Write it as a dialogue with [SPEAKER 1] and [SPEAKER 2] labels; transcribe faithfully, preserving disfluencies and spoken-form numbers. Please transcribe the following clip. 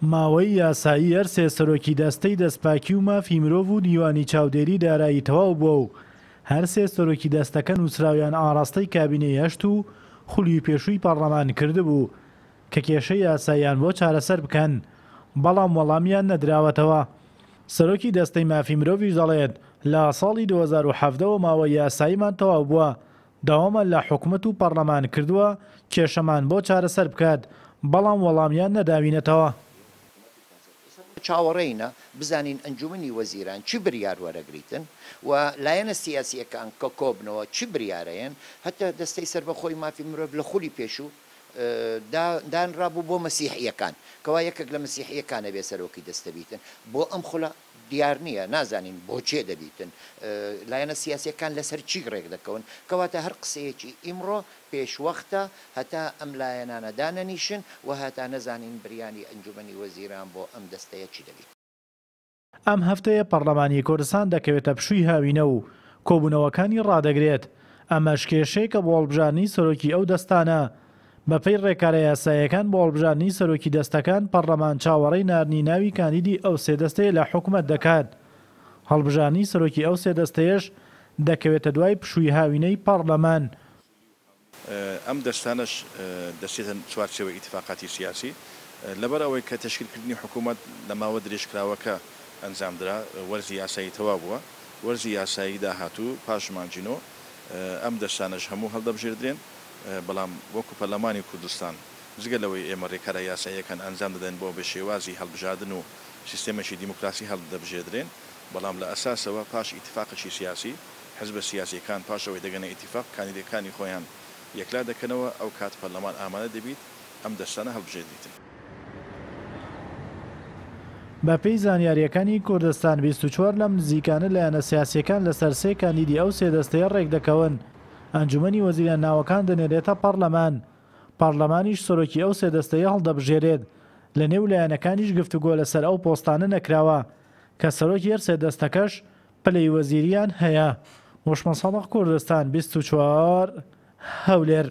[SPEAKER 1] ماوەی یاسایی هەر سێ سەرۆکی دەستەی دەستپاکی و مافی مرۆڤ و دیوانی چاودێری دارایی تەواو بووە و هەر سێ سەرۆکی دەستەکە نووسراویان ئاراستەی کابینەی هەشت و خولی پێشووی پەڕلەمان کردبوو کە کێشەی یاساییان بۆ چارەسەر بکەن، بەڵام وەڵامیان نەدراوەتەوە. سەرۆکی دەستەی مافی مرۆڤیش دەڵێت، لە ساڵی دوو هەزار و حەڤدە وە ماوەی یاساییمان تەواو بووە، داوامان لە حکومەت و پەڕلەمان کردووە کێشەمان بۆ چارەسەر بکات، بەڵام وەڵامیان نەداوینەتەوە.
[SPEAKER 2] چاوەڕێینە بزانین ئەنجومەنی وەزیران چی بریار وەرەگریتن و لایەنە سیاسیەکان کە کۆبنەوە چی بریارەیەن. هەتا دەستەی سەربەخۆی مافی مرۆڤ لە خولی پێشوو دانرابوو بۆ مەسیحیەکان، کەوا یەکێک لە مەسیحیەکانە بێ سەرۆکی دەستە بیتن. بۆ ئەم خولە دیار نییە، نازانین بۆچێ دەبیتن، لایەنە سیاسیەکان لەسەر چی ڕێک دەکەون. کەواتە هەر قسەیەکی ئیمڕۆ پێشوەختە هەتا ئەم لایەنانە دانەنیشن و هەتا نەزانین بریانی ئەنجومەنی وەزیران بۆ ئەم دەستەیە چی دەبیت.
[SPEAKER 1] ئەم هەفتەیە پەرلەمانی کوردستان دەکەوێتە پشووی هاوینە و کۆبوونەوەکانی ڕادەگرێت. ئەمەش کێشەیەکە بۆ هەڵبژاردنی سەرۆکی ئەو دەستانە. بەپێی ڕێکارە یاساییەکان بۆ هەڵبژاردنی سەرۆکی دەستەکان پەرلەمان چاوەڕێی ناردنی ناوی کاندیدی ئەو سێ دەستەیە لە حکومەت دەکات. هەڵبژاردنی سەرۆکی ئەو سێ دەستەیەش دەکەوێتە دوای پشووی هاوینەی پەرلەمان.
[SPEAKER 3] ئەم دەستانەش دەچێتە چوارچێوەی ئیتیفاقاتی سیاسی، لەبەر ئەوەی کە تەشکیلکردنی حکوومەت لە ماوە درێژکراوەکە ئەنجامدرا، وەرزی یاسایی تەواو بووە، وەرزی یاسایی داهاتوو پاش مانگی نۆ ئەم دەستانەش هەموو هەڵدەبژێردرێن. بەڵام وەکو پەرلەمانی کوردستان جگە لەوەی ئێمە رێکارە یاساییەکان ئەنجام دەدەین بۆ بە شێوازی هەڵبژاردن و سیستێمێکی دیموکراسی هەڵدەبژێردرێن، بەڵام لە ئەساسەوە پاش ئیتیفاقێکی سیاسی حزبە سیاسییەکان پاش ئەوەی دەگەنە ئیتیفاق کاندیدەکانی خۆیان یەکلا دەکەنەوە، ئەو کات پەرلەمان ئامادە دەبیت ئەم دەستانە هەڵبژێردریتن.
[SPEAKER 1] بەپێی زانیارییەکانی کوردستان بیست و چوار لەم نزیکانە لایەنە سیاسییەکان لەسەر سێ کاندیدی ئەو سێ دەستەیە ڕێکدەکەون. ئەنجومەنی وەزیران ناوەکان دەنێرێتە پەرلەمان، پەرلەمانیش سەرۆکی ئەو سێ دەستەیە هەڵدەبژێرێت. لە نێو لایەنەکانیش گفتوگۆ لەسەر ئەو پۆستانە نەکراوە کە سەرۆکی هەر سێ دەستەکەش پلەی وەزیریان هەیە. وشمە سادق، کوردستان بیست و چوار، هەولێر.